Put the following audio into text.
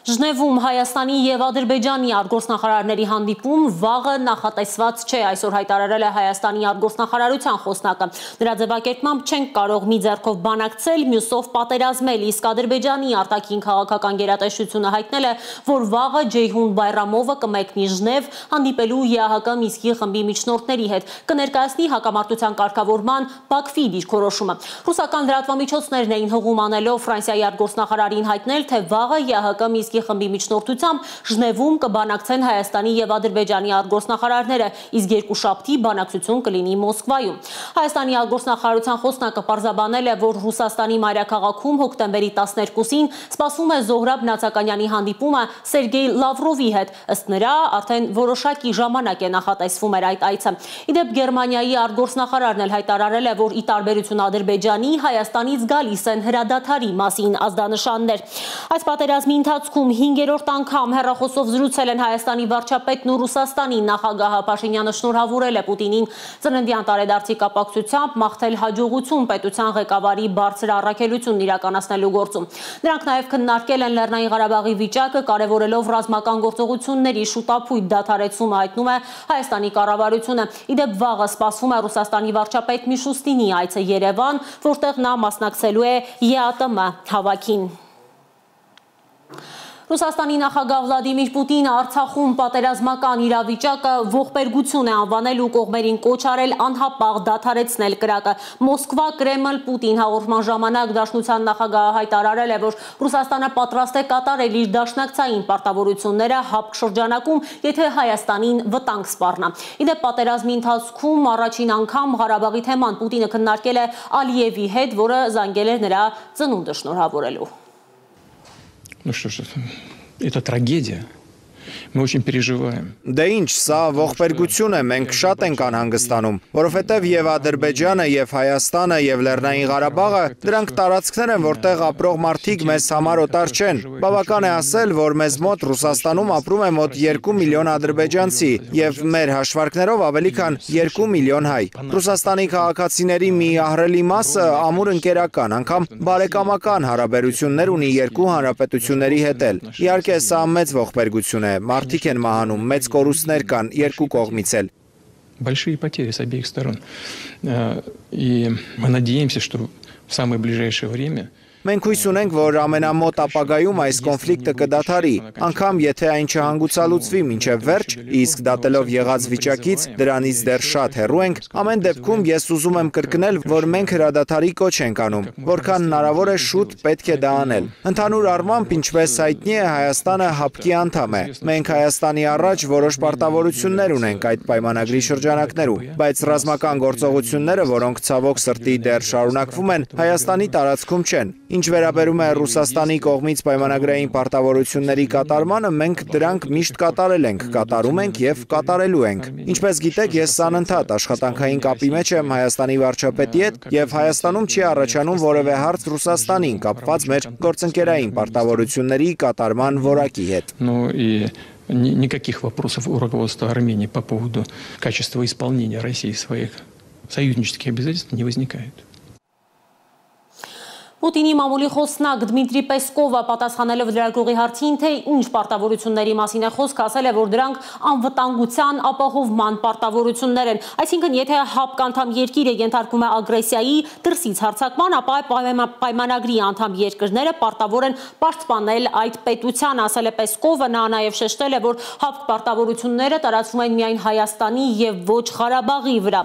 Ժնևում Հայաստանի և Ադրբեջանի արտգործնախարարների հանդիպում վաղը նախատեսված չէ, այսօր հայտարարել է Հայաստանի արտգործնախարարության խոսնակը։ Նրա ձևակերպմամբ չենք կարող մի ձեռքով բանակցել, մյուսով պատերազմել, իսկ Ադրբեջանի արտաքին քաղաքական գերատեսչությունը հայտնել է, որ վաղը Ջեյհուն Բայրամովը կմեկնի Ժնև հանդիպելու ԵԱՀԿ Մինսկի խմբի միջնորդների հետ, կներկայացնի հակամարտության կարգավորման Բաքվի դիրքորոշումը։ Ռուսական լրատվամիջոցներն էին հղում անելով Ֆրանսիայի արտգործնախարարին հայտնել, թե վաղը ԵԱՀԿ Մինսկի խմբի միջնորդությամբ Ժնևում կբանակցեն Հայաստանի և Ադրբեջանի արտգործնախարարները, իսկ երկուշաբթի բանակցություն կլինի Մոսկվայում։ Հայաստանի արտգործնախարարության խոսնակը պարզաբանել է, որ Ռուսաստանի մայրաքաղաքում հոկտեմբերի 12-ին սպասվում է Զոհրաբ Նացականյանի հանդիպումը Սերգեյ Լավրովի հետ, ըստ նրա արդեն որոշակի ժամանակ է նախատեսվում էր այդ այցը։ Իդեպ Գերմանիայի արտգործնախարարն էլ հայտարարել է, որ ի տարբերություն Ադրբեջանի, Հայաստանից գալիս են հրադադարի մասին ազդանշաններ։ Այս պատերազմի ընթացքում 5-րդ անգամ հեռախոսով զրուցել են Հայաստանի վարչապետն ու Ռուսաստանի նախագահը։ Փաշինյանը շնորհավորել է Պուտինին ծննդյան տարեդարձի կապակցությամբ մաղթել հաջողություն պետության ղեկավարի բարձր առաքելությունն իրականացնելու գործում։ Նրանք նաև քննարկել են Լեռնային Ղարաբաղի վիճակը, կարևորելով ռազմական գործողությունների շուտափույթ դադարեցումը, հայտնում է Հայաստանի կառավարությունը։ Իդեպ վաղը սպասվում է Ռուսաստանի վարչապետ Միշուստինի այցը Երևան, որտեղ նա մասնակցելու է ԵԱՏՄ հավաքին։ Ռուսաստանի նախագահ Վլադիմիր Պուտինը Արցախում պատերազմական իրավիճակը ողբերգություն է անվանել ու կողմերին կոչ արել անհապաղ դադարեցնել կրակը։ Մոսկվա Կրեմլ Պուտին հաղորդման ժամանակ Դաշնության նախագահը հայտարարել է, որ Ռուսաստանը պատրաստ է կատարել իր դաշնակցային պարտավորությունները ՀԱՊԿ շրջանակում, եթե Հայաստանին վտանգ սպառնա։ Իդեպ պատերազմի ընթացքում առաջին անգամ Ղարաբաղի թեման Պուտինը քննարկել է Ալիևի հետ, որը զանգել է նրա ծնունդը շնորհավորելու։ Ну что ж, это трагедия. Мы очень переживаем. Դե ինչ, սա ողբերգություն է, մենք շատ ենք անհանգստանում, որովհետև եւ Ադրբեջանը, եւ Հայաստանը, եւ Լեռնային Ղարաբաղը դրանք տարածքներ են, որտեղ ապրող մարդիկ մեզ համար օտար չեն։ Բավական է ասել, որ մեզ մոտ Ռուսաստանում ապրում է մոտ 2 միլիոն ադրբեջանցի եւ մեր հաշվարկներով ավելի քան 2 միլիոն հայ։ Ռուսաստանի քաղաքացիների մի ահռելի մասը ամուր ընկերական, անգամ բարեկամական հարաբերություններ ունի երկու հանրապետությունների հետ էլ։ Իհարկե, սա մեծ ողբերգություն է։ Մարդիկ են մահանում, մեծ կորուստներ կան երկու կողմից էլ։ Большие потери с обеих сторон. И мы надеемся, что в самое ближайшее время Մենք հույս ունենք, որ ամենամոտ ապագայում այս կոնֆլիկտը կդադարի, անգամ եթե այն չհանգուցալուծվի մինչև վերջ, իսկ դատելով եղած վիճակից դրանից դեռ շատ հեռու ենք, ամեն դեպքում ես ուզում եմ կրկնել, որ մենք հրադադարի կոչ ենք անում, որքան հնարավոր է շուտ պետք է դա անել։ Ընդհանուր առմամբ, ինչպես հայտնի է, Հայաստանը ՀԱՊԿ-ի անդամ է։ Մենք Հայաստանի առաջ որոշ պարտավորություններ ունենք այդ պայմանագրի շրջանակներում, բայց ռազմական գործողությունները, որոնք ցավոք սրտի դեռ շարունակվում են, Հայաստանի տարածքում չեն։ Ինչ վերաբերում է Ռուսաստանի կողմից պայմանագրային պարտավորությունների կատարմանը, մենք դրանք միշտ կատարել ենք, կատարում ենք եւ կատարելու ենք։ Ինչպես գիտեք, ես անընդհատ աշխատանքային կապի մեջ եմ Հայաստանի վարչապետի հետ եւ Հայաստանում չի առաջանում որևէ հարց Ռուսաստանին կապված մեր գործընկերային պարտավորությունների կատարման որակի հետ։ Никаких вопросов у руководства Армении по поводу качества исполнения России своих союзнических обязательств не возникает. Պուտինի մամուլի խոսնակ Դմիտրի Պեսկովը պատասխանելով լրագրողի հարցին, թե ինչ պարտավորությունների մասին է խոսք, ասել է, որ դրանք անվտանգության ապահովման պարտավորություններ են։ Այսինքն, եթե ՀԱՊԿ անդամ երկիրը ենթարկվում է ագրեսիայի դրսից հարձակման, ապա պայմանագրի անդամ երկրները պարտավոր են պաշտպանել այդ պետությանը, ասել է Պեսկովը։ Նա նաև շեշտել է, որ ՀԱՊԿ պարտավորությունները տարածվում են միայն Հայաստանի եւ ոչ Ղարաբաղի վրա։